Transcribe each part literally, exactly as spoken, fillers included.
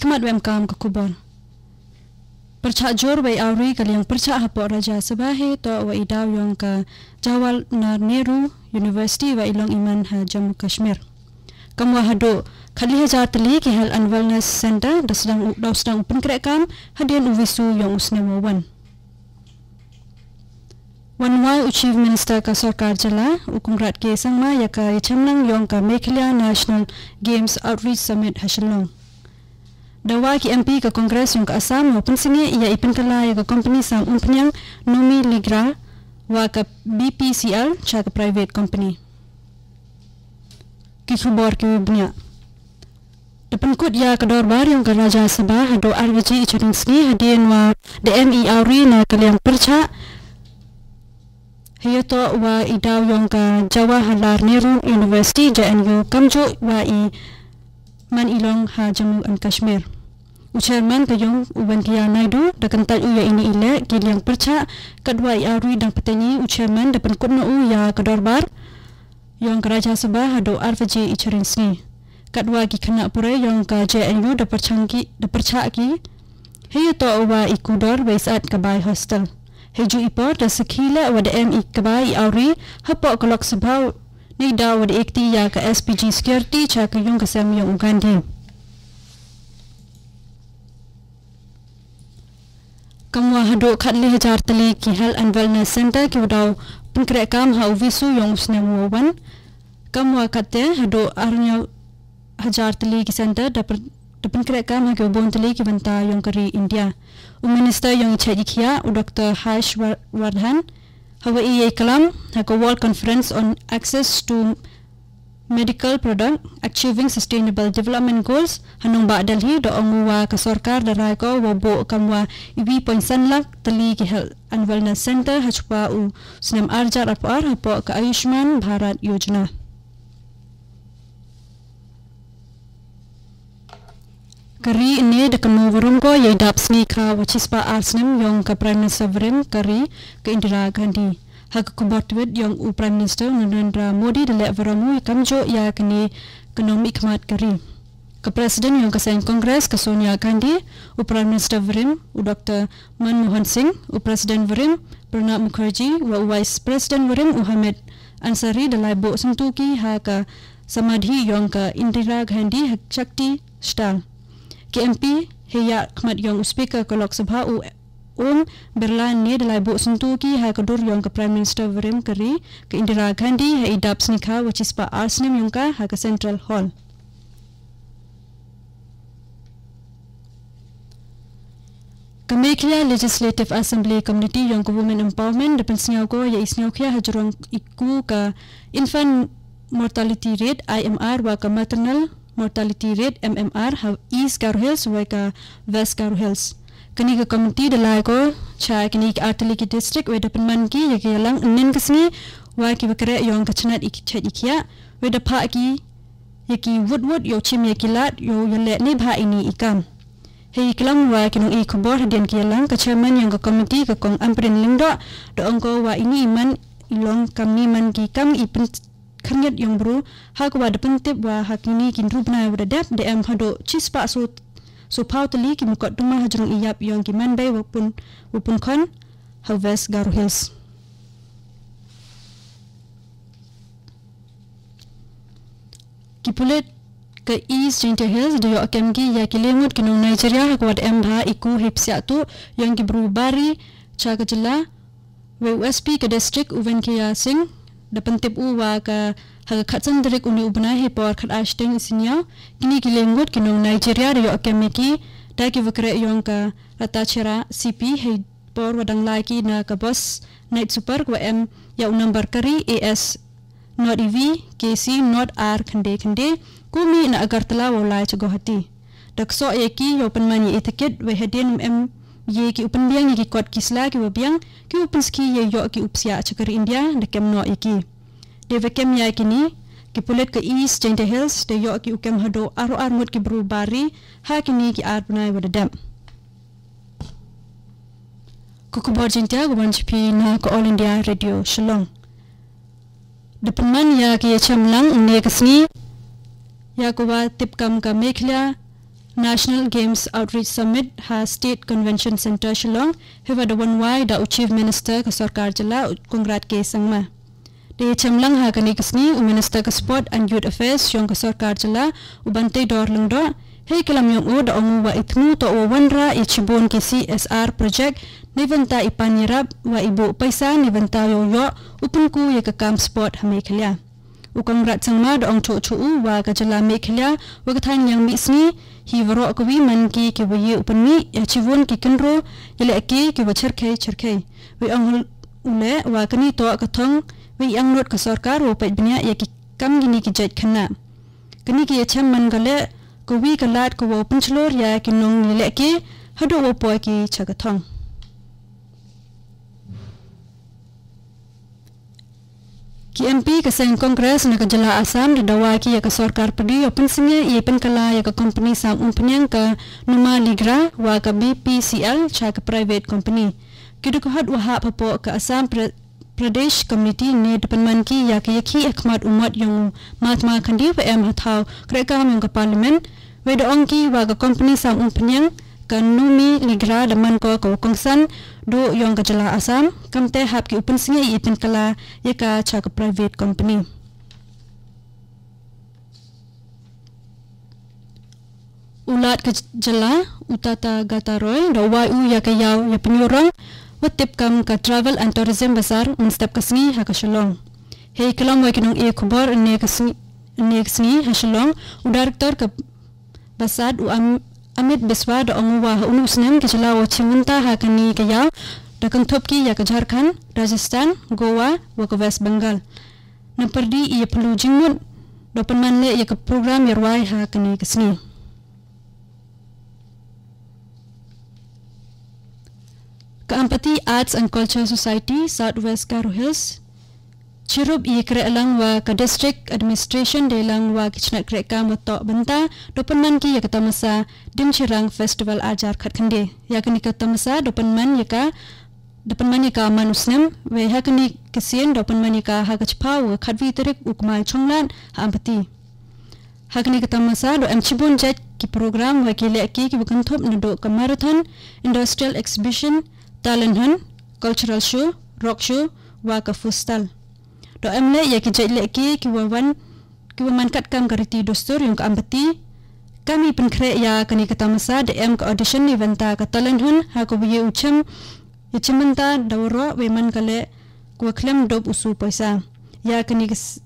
Mat wem kam ka khubor. Pyrchah jur wei awri ka liang pyrchah hapoh Rajya Sabha hei toh wa i daw yong ka Jawaharlal Nehru University wa i long iman ha Jammu Kashmir. Kam wa haduh khatli hajar tylli ki Health and Wellness Center da sdang u daw sdang u pynkhreh kam hadien u wisu yong u snem wa wan. Wan wai u Chief Minister ka Sorkar Jylla u Conrad K Sangma ya ka ya chemlang yong ka Meghalaya National Games Outreach Summit ha Shillong. Da wa ki M P ka Congress yong ka Assam wa pynsngi ya i pynkala ya ka company sam umphniang Nomi Ligra wa ka B P C L cha ka private company. Ki khubor ki bniah. Da pynkut ya ka dorbar yong ka Rajya Sabha haduh ar baje i chading sngi hadien wa da em i awri na ka liang pyrchah. Hei toh wa i daw yong ka Jawaharlal Nehru University J N U kamjuh wa i man i long ha Jammu and Kashmir. U chairman ka yong u Venkaiah Naidu da kyntait u ya ini i leh ki liang pyrchah katwa i awri dang pateng i u chairman da pynkut na u ya ka dorbar yong ka Rajya Sabha haduh ar baje i chading sngi. Katwa ki khynnah pule yong ka J N U da pyrchang ki da pyrchah ki. Hei toh wa i kudor wei sat ka bai hostel. Hei ju i por da sakhi leh wa da em i ka bai i awri hapoh ka Lok Sabha. Nei daw wa da ekti ya ka S P G security cha ka yung ka sem yong u Gandhi. Kam wa haduh khatli hajar tylli ki Health and Wellness Center ki wa daw pynkhreh kam ha u wisu yong u snem wa wan. Kam wa kate haduh ar hajar tylli ki center da pynkhreh kam ha ki wa bun tylli ki bynta yong ka ri India. U Minister yong i chait i khiah u Doctor Harsh Vardhan hawa i yei klam ha ka World Conference on Access to Medical Product Achieving Sustainable Development Goals ha nongbah Delhi da ong u wa ka sorkar da rai ko wa buh kam wa iwi point san lak tylli ki Health and Wellness Center ha chwa u snem ar hajar arphew ar hapoh ka Ayushman Bharat Yojana. Ka ri ne da ka nongwarum ko yei dap sngikha wa chispah ar snem yong ka Prime Minister warim ka ri ka Indira Gandhi. Ha ka khubor tweet yong u Prime Minister Narendra Modi da leh warum u kamjuh ya kane ka nongmihkhmat ka ri. Ka President yong ka seng Congress ka Sonia Gandhi, u Prime Minister warim u Doctor Manmohan Singh, u President warim Pranab Mukherjee wa u Vice President warim u Hamid Ansari da lai buh syntuki ha ka samadhi yong ka Indira Gandhi ha Shakti Sthal. Ki M P hei ya khmat yong u Speaker ka Lok Sabha u Om Birla ne da lai buh syntuki ha ka dur yong ka Prime Minister warim ka ri ka Indira Gandhi ha i dap sngikha wa chispah ar snem yong ka ha ka Central Hall. Ka Meghalaya Legislative Assembly Committee yong ka Women Empowerment da pynsngew ko ya i sngew khia ha jrong i ku ka Infant Mortality Rate I M R wa ka Maternal Mortality Rate M M R ha East Garo Hills wa ka West Garo Hills. Kani ka committee da lai ko cha kini ka artylli ki district wa da pynman ki ya ki yalang nen ka sngi wa ki wa kre yong ka chnat i ki chet i kia wa da pha ki ya ki wut wut yow chim ya ki lad yow ya leh ne bha ini i kam. Hei klam wa ki nong i khubor hadien ki yalang ka chairman yong ka committee ka kong Ampareen Lyngdoh da ong ko wa ini i man i long kam ni man ki kam i pyn khyrngiat yong bru ha ka wa da pyntip wa ha kini ki hynru bnai wa da dep da em haduh chispah so so phaw tylli ki mukot duma ha jrong i yap yong ki man bei wa pun wa pun khon ha West Garo Hills. Ki pulit ka East Jaintia Hills da yoh kem ki ya ki lyngngoh ki nong Nigeria ha ka wa da em bha i ku hei psiah tu yong ki bru bari cha ka jylla. Wei u S P ka district u Venkaiah Singh da pyntip u wa ka ha ka khatsan tarik uni u bnai hei por khat ar shiteng i synñiaw kini ki lyngngoh ki nong Nigeria da yoh kem ki da ki wa kre yong ka Ratachera C P hei por wa dang lai ki na ka bus Night Super wa em ya u number kari A S not E V K C not R khynde khynde kumi na Agartala wa lai cha Guwahati. Da ksoh ya ki yow pynman ya i ticket wei hadien em ye ki u pynbiang ya ki kot ki sla ki wa biang ki u pynski ya yoh ki u psiah cha ka ri India da kem noh ya ki. Da wa kem ya kini ki pulit ka East Jaintia Hills da yoh ki u kem haduh ar ar ngut ki bru bari ha kini ki ar bnai wa da dep. Ka khubor Jaintia ka wan cha phi na ka All India Radio Shillong. Da pynman ya ka ya chemlang ne ka sngi ya ka wa tip kam ka Meghalaya National Games Outreach Summit ha State Convention Centre Shillong, haba da wan wai da u Chief Minister ka sorkar jylla, u Conrad K Sangma. Da ïachem lang ha kane ka sngi u Minister ka Sport and Youth Affairs jong ka sorkar jylla, u Banteidor Lyngdoh, hei klam ïong u da ong u wa i thmu toh wa wanrah ïa shibun ki C S R project, neibynta i pan ïarap wa i buh paisa neibynta ïoh ïoh u pynku ïa ka kam sport ha Meghalaya. U Conrad Sangma da ong chuh chuh u wa ka jylla Meghalaya wa ka thaiñ liang mihsngi hi waroh kawi man ki kiwa ïoh u pynmih ïa shibun ki kynroh ïalehke kiwa cherkhei cherkhei. Wei ong u leh wa kane toh ka thong wei angnud ka sorkar wow peit bniah ïa ki kam kine ki jait khynnah. Kane ki ïachem man ka leh kawi ka lad ka wow pynshlur ïa ki nongïalehke haduh wow poi ki sha ka thong. Ki M P ka seng Congress na ka jylla Assam da dawa ki ïa ka sorkar pyrdi ïa pynsngew ïa pynkylla ïa ka kompani sam umphniang ka Numa Ligra wa ka B P C L sha ka private company. Ki dkhot wa hap hapoh ka Assam Pre- Pradesh Committee ne da pynman ki ïa ka ïakhih ha khmat u mot ïong u Mahatma Gandhi wa em ha thaw krehkam ïong ka Parliament. Wei da ong ki wa ka kompani sam umphniang ka Numa Ligra da man ko ka wa kongsan duh ïong ka jylla Assam, kamte hap ki u pynsngew ïa pynkylla ïa ka sha ka private company. U Lat ka jylla, u Tathagata Roy, da wai u ïa ka ïaw ïa pynïurong wa tip kam ka Travel and Tourism Bazaar mynstep ka sngi ha ka Shillong. Hei klam wa ki nongïakhubor ne ka sngi, ne ka sngi ha Shillong, u Director ka Bazaar u Am- Amit Biswa da ong u wa ha une u snem ka jylla wa chimbynta ha kane ka ïaw da kynthup ki ïa ka Jharkhand, Rajasthan, Goa wa ka West Bengal. Na pyrdi ïa pynlut jingmut da pynman leh ïa ka program ïarwai ha kane ka sngi. Ka Ampati Arts and Culture Society South West Garo Hills chirup ïa kreh lang wa ka District Administration dei lang wa ki chnat kreh kam wa toh bynta da pynman ki ïa ka tamasa Dimchirang Festival arjar khat khynde. Ïa kane ka tamasa da pynman ïa ka da pynman ïa ka man u snem, wei ha kane ka sien da pynman ïa ka ha ka chiphaw wa khatwi tarik u Kmai Chonglad ha Ampati. Ha kane ka tamasa da em chibun jait ki program wa ki lehke kiwa kynthup naduh ka marathon, industrial exhibition, talent hunt, cultural show, rock show wa ka food stall. Da em leh ïa ki jait lehke kiwa wan kiwa man katkam ka riti dustur ïong ka Ampati. Kam ïa pynkhreh ïa kane ka tamasa da em ka audition neibynta ka talent hunt ha kawa ïa u chim ïa chimbynta da waroh wei man ka leh kawa khlem dup u su poisa. Ïa kane ka s-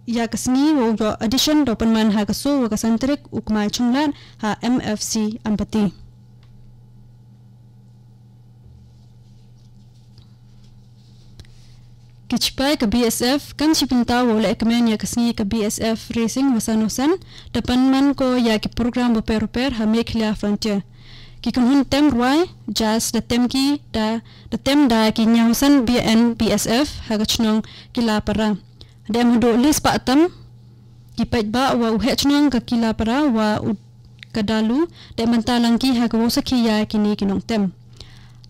ïa ka sngi wow ïoh audition da pynman ha ka su wa ka san tarik u Kmai Chonglad ha M F C Ampati. Ki chipai ka B S F kam shibynta wow lehkmen ïa ka sngi ka B S F Racing wa san wa san da pynman ko ïa ki program wa per wa per ha Meghalaya Frontier. Ki kynhun tem rwai jazz da tem ki da da tem da ki ñiaw san B N B S F ha ka chnong Kilapara. Da em haduh lis pa tam ki paidbah wa u heh chnong ka Kilapara wa u ka Dalu da em bynta lang ki ha ka wow sakhi ïa kine ki nongtem.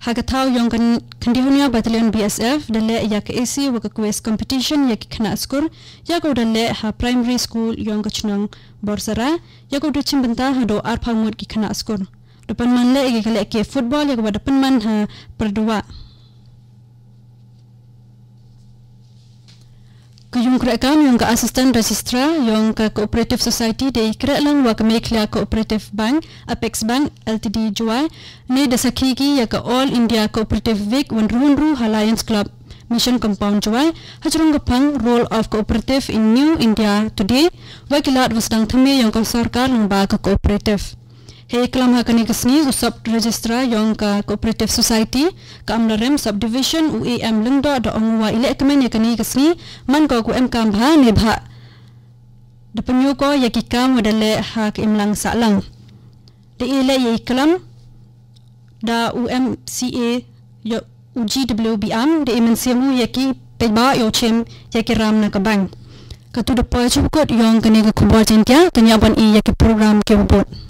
Ha ka thaw ïong ka Khandihunia Battalion B S F da leh ïa ka A C wa ka quiz competition ïa ki khynnah skur ïa ka wa da leh ha primary school ïong ka chnong Borsara ïa ka wa da chimbynta haduh arphaw ngut ki khynnah skur. Da pynman leh ïa ka lehke football ïa ka wa da pynman ha Pyrduwah. Ka yung kreh kam ïong ka Assistant Registrar ïong ka Cooperative Society da i kreh lang wa ka Meghalaya Cooperative Bank, Apex Bank Limited Jowai, ne da sakhi ki ïa ka All India Cooperative Week wa hynriew hynriew ha Lions Club Mission Compound Jowai ha jrong ka phang Role of Cooperative in New India Today wa ki lad wa sdang thymme ïong ka sorkar lyngba ka cooperative. Hei klam ha kane ka sngi u Sub Registrar ïong ka Cooperative Society ka Amlarem Subdivision u A M Lyngdoh da ong wa i lehkmen ïa kane ka sngi man ko ka wa em kam bha ne bha da pynïoh ko ïa ki kam wa da leh ha ka imlang sahlang. Da i leh ïa i klam da u M C A ïa u G W Biam da i mynsiem u ïa ki paidbah ïa u chim ïa ki ram na ka bank. Katu da poi shuh kut ïong kane ka khubor Jaiñtia, tang ïa ban i ïa ki program ki wa bud.